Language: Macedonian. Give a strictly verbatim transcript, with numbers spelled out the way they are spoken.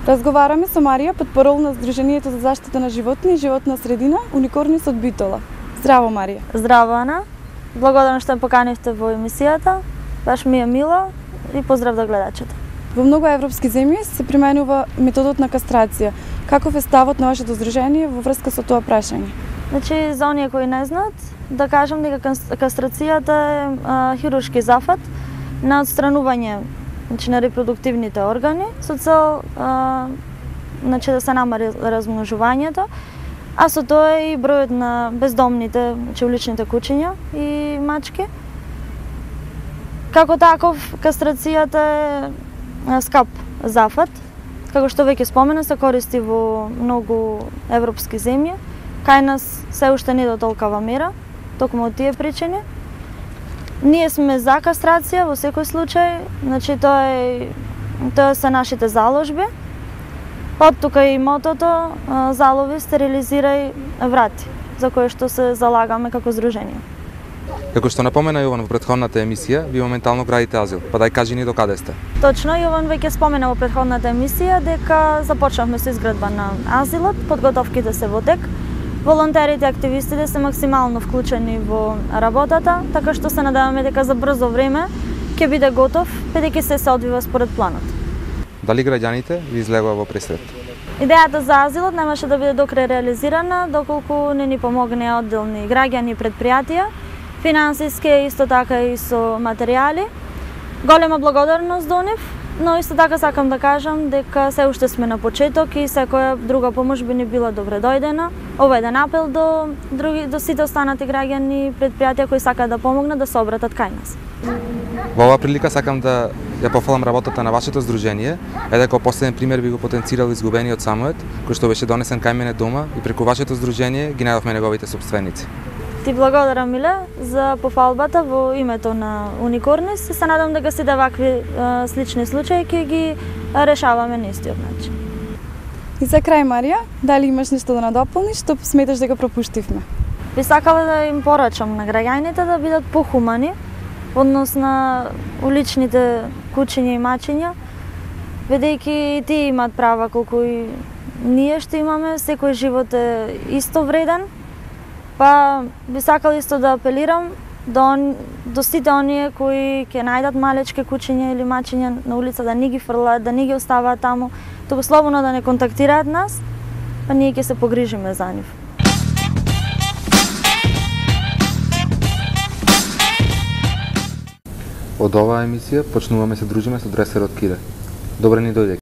Разговараме со Марија, потпорол на Сдруженијето за заштита на животни и животна средина, Уникорнис од Битола. Здраво, Марија. Здраво, Ана. Благодарам што ме поканивте во емисијата. Баш ми е мило и поздрав до гледачите. Во многу европски земји се применува методот на кастрација. Каков е ставот на вашето здружение во врска со тоа прашање? Значи, за оние кои не знаат, да кажам дека кастрацијата е а, хируршки зафат на отстранување, значи, на репродуктивните органи со цел а, значи, да се намали размножувањето, а со тоа и бројот на бездомните, значи уличните кучиња и мачки. Како таков, кастрацијата е скап зафат, како што веќе спомена, се користи во многу европски земји. Кај нас се уште не до толкова мера, токму од тие причини. Ние сме за кастрација во секој случај, значи тоа е тоа се нашите заложби. Од тука и мотото залови, стерилизирај, врати, за кое што се залагаме како здружение. Како што напомена Јован во претходната емисија, ви моментално градите азил, па дај кажи ни до каде сте. Точно, Јован веќе спомена во претходната емисија дека започнавме со изградба на азилот, подготовките се во тек. Волонтерите и активистите се максимално вклучени во работата, така што се надеваме дека за брзо време ќе биде готов, бидејќи се се одвива според планот. Дали граѓаните ви излегува во пресрет? Идејата за азилот немаше да биде докрај реализирана, доколку не ни помогне одделни граѓани и предпријатија, финансиски, исто така и со материјали. Голема благодарност до нив, но исто така сакам да кажам дека се уште сме на почеток и секоја друга помош би ни била добре дојдена. Ова е еден апел до други до сите останати граѓани и предпријатија кои сакаат да помогнат да се обратат кај нас. Во оваа прилика сакам да ја пофалам работата на вашето здружение, е дека последен пример би го потенцирал изгубениот Самует, кој што беше донесен кај мене дома и преку вашето здружение ги најдовме неговите собственици. Ти благодарам, Миле, за пофалбата во името на Уникорнис и се надам дека сите вакви а, слични случаи ќе ги решаваме на истиот начин. И за крај, Марија, дали имаш нешто да надополниш, што сметаш дека пропуштивме? Би сакала да им порачам на граѓаните да бидат похумани однос на уличните кучиња и мачиња, бидејќи и тие имаат права колку и ние што имаме, секој живот е исто вреден. Па би сакала исто да апелирам до, до сите оние кои ќе најдат малечки кучиња или мачиња на улица да не ги фрлаат, да не ги оставаат таму, туку слободно да не контактираат нас, па ние ќе се погрижиме за нив. Од оваа емисија почнуваме се дружиме со дресерот Кире. Добре ни дојде.